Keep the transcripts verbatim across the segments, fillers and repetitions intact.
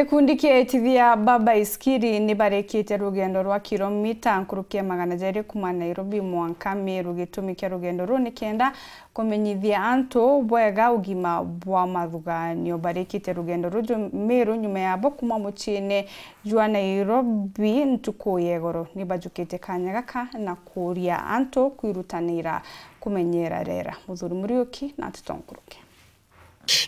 Gikundi kia itithia ba baisikiri ni barikite rugendo rwa kilomita nkuruki ya magana jairi kuma Nairobi mwanka Meru. Gitumi kia rugendo ruu ni kenda kumenyithia antu bwega ugima bwa mathuganio. Barikite rugendo ruju Meru nyuma yabo kuma muciine jwa Nairobi ntuku ya igoro. Ni bajukite kanya gaka na kuuria antu kwirutanira kumenyera riera. Muthuri Muriuki na nteto nkuruki.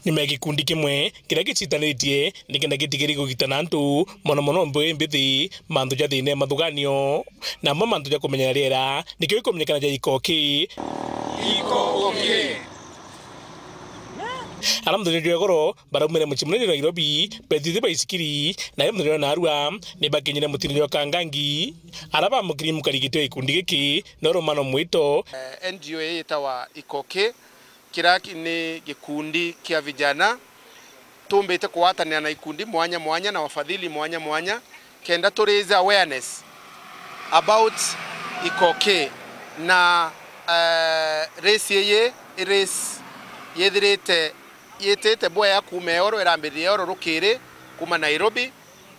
Nyuma ya gikundi kimwe kiria gicitanitie nikenda gitigiri kugitana antu, mono mono mbewe mbithi, mantu ja thina ya mathuganio, na amwe mantu ja kumenyera riera, nikio gikumenyekana ja ikoki. Ikoki. Ara muthenya jwa igoro baraumire mucii munene Nairobi, betithite baisikiri, na yo muthenya jwa narua ni bakinyire mutine jwa Kangangi. Ara bamukiri mukarigite wa gikundi giki no Romano Mwito. Eh, N G O ii yitawa Ikoki, kiria ki-, ni gikundi kia vijana. Tumbite kugwatanira na ikundi mwanya mwanya na wafadhili mwanya mwanya kenda tu raise awareness about Ikoki. Na, eh, race ii i race yithirite yitite bwea kuuma eoro, irambiririe eoro rukiri kuuma Nairobi,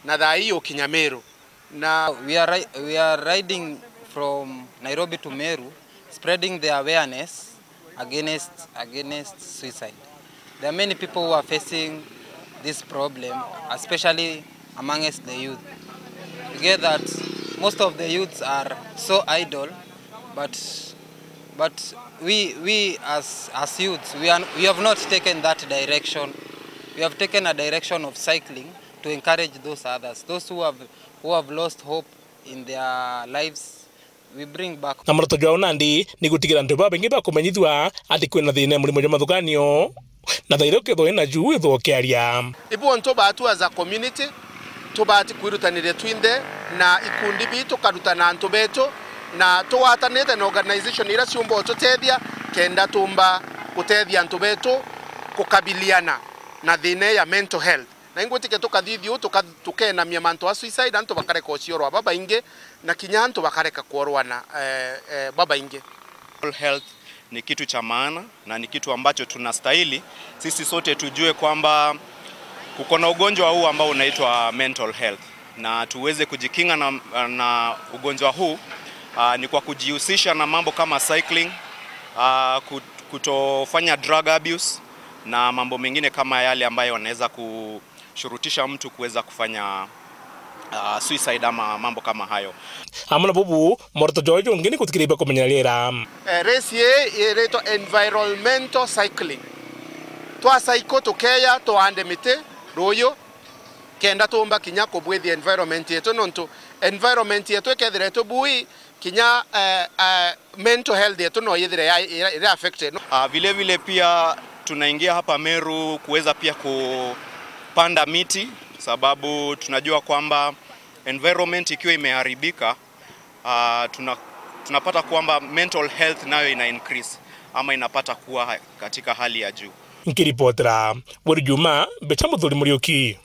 na thaa ii yukinya Meru. Na we are ri-, we are riding from Nairobi to Meru, spreading the awareness against, against suicide. There are many people who are facing this problem, especially amongst the youth. We get that most of the youths are so idle, but, but we, we as, as youths, we are, we have not taken that direction. We have taken a direction of cycling to encourage those others, those who have, who have lost hope in their lives, we bring back. Na muoroto jwao nandi ni gutigira antu babaingi bakumenyithua ati kwina thina ya murimo jwa mathuganio, na thaira ukethwa wina juu withwa ukiaria. Ibu antu batu as a community, tubati kwirutaniria twinthe na ikundi bitu, tukarutana antu betu, na tugwatanite na organization iria ciumba ututethia, kenda tumba gutethia antu betu kukabiliana na thina ya mental health. Na ingwitikia tukathithia uu, tuka-, tukenamia mantu a suicide, antu bakareka uciorwa babaingi, na kinya antu bakareka kuorwana, eh, eh, babaingi. Mental health ni kitu cha maana na ni kitu ambacho tunastahili sisi sote tujue kwamba kuko na ugonjwa huu ambao unaitwa mental health, na tuweze kujikinga na, na ugonjwa huu, ah, ni kwa kujihusisha na mambo kama cycling, ah, kut-, kutofanya drug abuse na mambo mengine kama yale ambayo yanaweza ku-, shurutisha mtu kuweza kufanya, ah, suicide ama mambo kama hayo. Amwe na bubu, muoroto jwao jungi ni gutikiria bakumenyera riera. Eh, race ii iritwa environmental cycling. Twa cycle tukeya, tuande miti ruuyu, kenda tumba kinya kubwithia environment yetu, nontu environment yetu ikethira itubui, kinya, eh, eh, mental health yetu no yithire ya, ya, iri affected. Ah, vile vile pia tunaingia hapa Meru kuweza pia kupanda miti, sababu tunajua kwamba environment ikiwa imeharibika, ah, tuna-, tunapata kwamba mental health nayo ina increase ama inapata kuwa ha-, katika hali ya juu. Nkiripotera Weri Juma, mbecha Muthuri Muriuki.